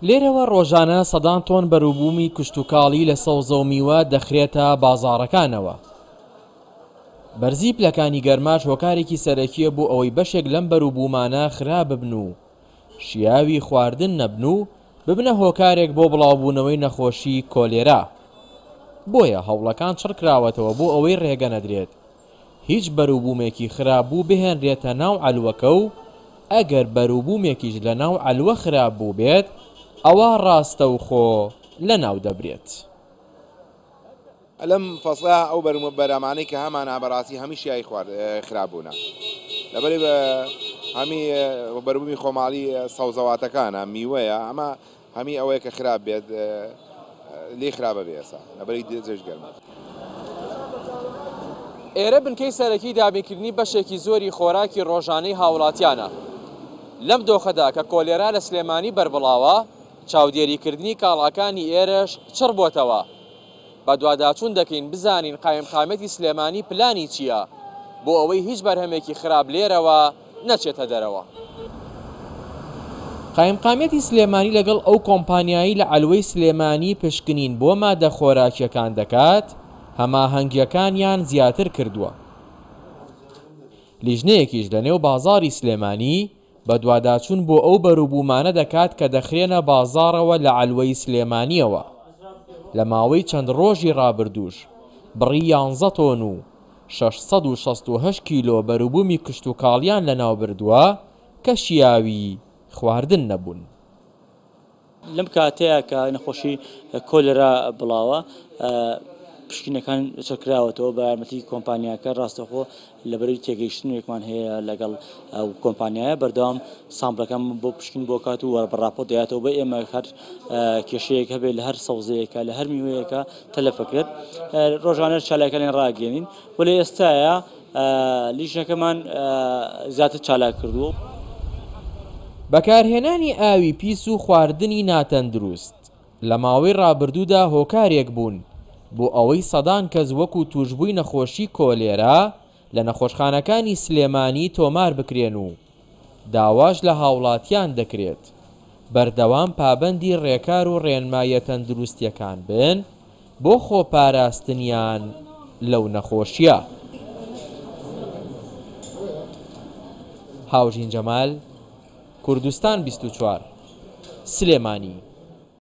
لێرەوە ڕۆژانە سەدان تۆن بەروبوومی کشتوکاڵی لە سەوزە و میوە دەخرێتە بازاڕەکانەوە. بەرزی پلەکانی گەرماش هۆکارێکی سەرەکییە بۆ ئەوەی بەشێک لەم بەروبوومانە خراپ ببن و شیاوی خواردن نەبن و ببنە هۆکارێک بۆ بڵاوبوونەوەی نەخۆشی کۆلێرا. بۆیە هەوڵەکان چڕکراوەتەوە بۆ ئەوەی ڕێگە نەدرێت هیچ بەروبوومێکی خراپبوو بهێنرێتە ناو عەلوەکە و ئەگەر بەروبوومێکیش لەناو عەلوە خراپ بووبێت ئەوا ڕاستەوخۆ لەناو دەبرێت. لەم فەسڵە ئەو بەرهەمانەی کە هەمانە بەڕاستی هەمی شیاوی خوارد خراپ بوونە لەبەری هەمی بەروبوومی خۆماڵی سەوزەواتەکانە میوەیە ئەمە هەمی ئەوەیە کە خراپ بێت لێی خراپە بێ ئێستا لەبەری جێژ گەرمە. ئێرە بنکەی سەرەکی دابینکردنی بەشێکی زۆری خۆراکی ڕۆژانەی هاوڵاتیانە. لەم دۆخەدا کە کۆلێرا لە سلێمانی بەربڵاوە، چاودێریکردنی کاڵاکانی ئێرەش چڕ بۆتەوە. بەدواداچوون دەکەین بزانین قایمقامیەتی سلێمانی پلانی چییە بۆ ئەوەی هیچ بەرهەمێکی خراپ لێرەوە نەچێتە دەرەوە. قایمقامیەتی سلێمانی لەگەڵ ئەو کۆمپانیایەی لە عەلوەی سلێمانی پشکنین بۆ مادە خۆراکییەکان دەکات، هەماهەنگییەکانیان زیاتر کردووە. لیژنەیەکیش لەنێو بازاڕی سلێمانی بەدواداچوون بۆ ئەو بەروبوومانە دەکات کە دەخرێنە بازاڕەوە لە عەلوەی سلێمانییەوە. لە ماوەی چەند ڕۆژی ڕابردووش بڕی یانزە تۆن و 668 کیلۆ بەروبوومی کشتوکاڵیان لەناوبردووە کە شیاوی خواردن نەبوون. لەم کاتەیا کە نەخۆشی کۆلێرا بڵاوە پشکنینەکان چڕکراوەتەوە بە یارمەتی کۆمپانیاکە ڕاستەخۆ لەبەرەی تێگەیشتنێکمان هەیە لەگەڵ ئەو کۆمپانیایە بەردەوام سامپلەکان بۆ پشکین بۆ کات و بە ڕاپۆرت دەیاتەوە بە ئێمە هەر کێشەیەک هەبێت لە هەر سەوزەیەکە لە هەر میوەیەکە تەلەفەکرێت ڕۆژانە چالاکانیان ڕاگەێنین و لە ئێستاە لیژنەکەمان زیاتر چالاک کردووە. بەکارهێنانی ئاوی پیس و خواردنی ناتەندروست لە ماوەی ڕابردوودا هۆکارێک بوون بۆ ئەوەی سەدان کەس وەکو تووشبووی نەخۆشی کۆلێرا لە نەخۆشخانەکانی سلێمانی تۆمار بکرێن و داواش لە هاوڵاتیان دەکرێت بەردەوام پابەندی ڕێکار و ڕێنماییە تەندروستییەکان بن بۆ خۆپاراستنیان لەو نەخۆشییە. هاوژین جەمال، کوردستان 24، سلێمانی.